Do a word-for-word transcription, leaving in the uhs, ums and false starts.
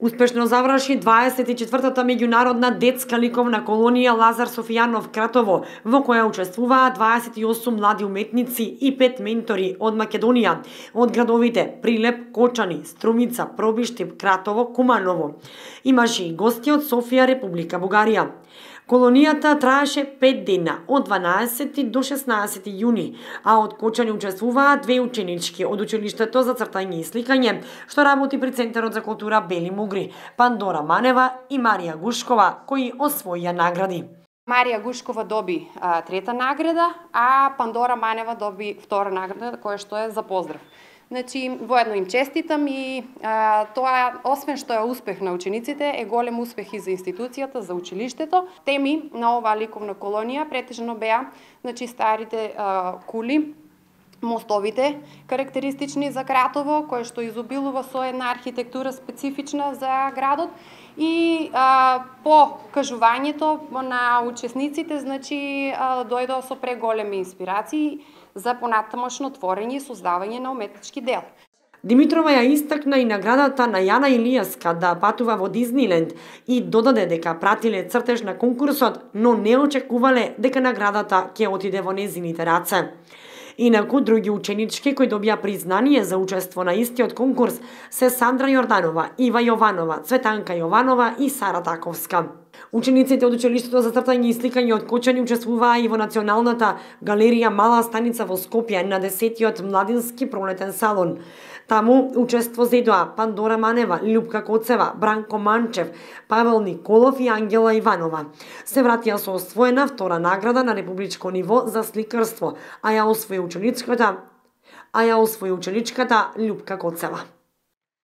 Успешно заврши дваесет и четвртата меѓународна детска ликовна колонија Лазар Софијанов Кратово, во која учествуваа дваесет и осум млади уметници и пет ментори од Македонија, од градовите Прилеп, Кочани, Струмица, Пробиштип, Кратово, Куманово. Имаше и гости од Софија, Република Бугарија. Колонијата траеше пет дена, од дванаесети до шеснаесети јуни, а од Кочани учествуваа две ученички од училиштето за цртање и сликање, што работи при Центарот за култура Бели Мугри, Пандора Манева и Марија Гушкова, кои освоија награди. Марија Гушкова доби а, трета награда, а Пандора Манева доби втора награда, која што е за поздрав. Значи, воедно им честитам и а, тоа, освен што е успех на учениците, е голем успех и за институцијата, за училиштето. Теми на оваа ликовна колонија претежно беа, значи, старите а, кули, мостовите, карактеристични за Кратово, кое што изобилува со една архитектура специфична за градот, и а, по кажувањето на учесниците, значи, а, дојдоа со преголеми инспирации за понатамошно творење и создавање на уметнички дел. Димитрова ја истакна и наградата на Јана Илијаска да патува во Дизниленд и додаде дека пратиле цртеж на конкурсот, но не очекувале дека наградата ќе отиде во незините раце. Инаку, други ученички кои добија признание за учество на истиот конкурс се Сандра Јорданова, Ива Јованова, Цветанка Јованова и Сара Таковска. Учениците од училиштето за цртање и сликање од Кочани учествуваа и во Националната галерија Мала станица во Скопје на десетиот младински пролетен салон. Таму учество зедоа Пандора Манева, Љупка Коцева, Бранко Манчев, Павел Николов и Ангела Иванова. Се вратија со освоена втора награда на републичко ниво за сликарство, а ја освои ученичката, а ја освои ученичката Љупка Коцева.